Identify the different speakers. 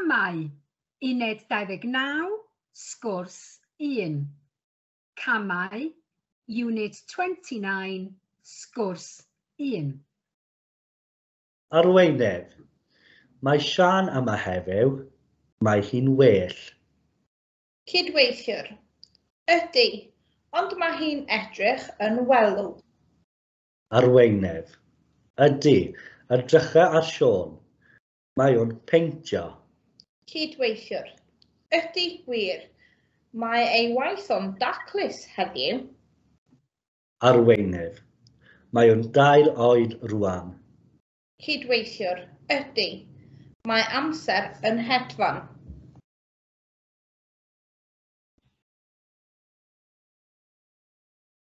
Speaker 1: Camau, Uned 29, Sgwrs 1. Camau, Unit 29, Sgwrs 1.
Speaker 2: Arweinydd. Mae Siân yma heddiw. Mae hi'n well.
Speaker 3: Cydweithiwr. Ydy, ond mae hi'n edrych yn welw.
Speaker 2: Arweinydd. Ydy, edrycha ar Siôn. Mae o'n peintio.
Speaker 3: Cydweithiwr. Ydy, wir. Mae ei waith o'n daclus heddiw.
Speaker 2: Arweinydd. Mae o'n dair oed rwan.
Speaker 3: Cydweithiwr. Ydy. Mae amser yn hedfan.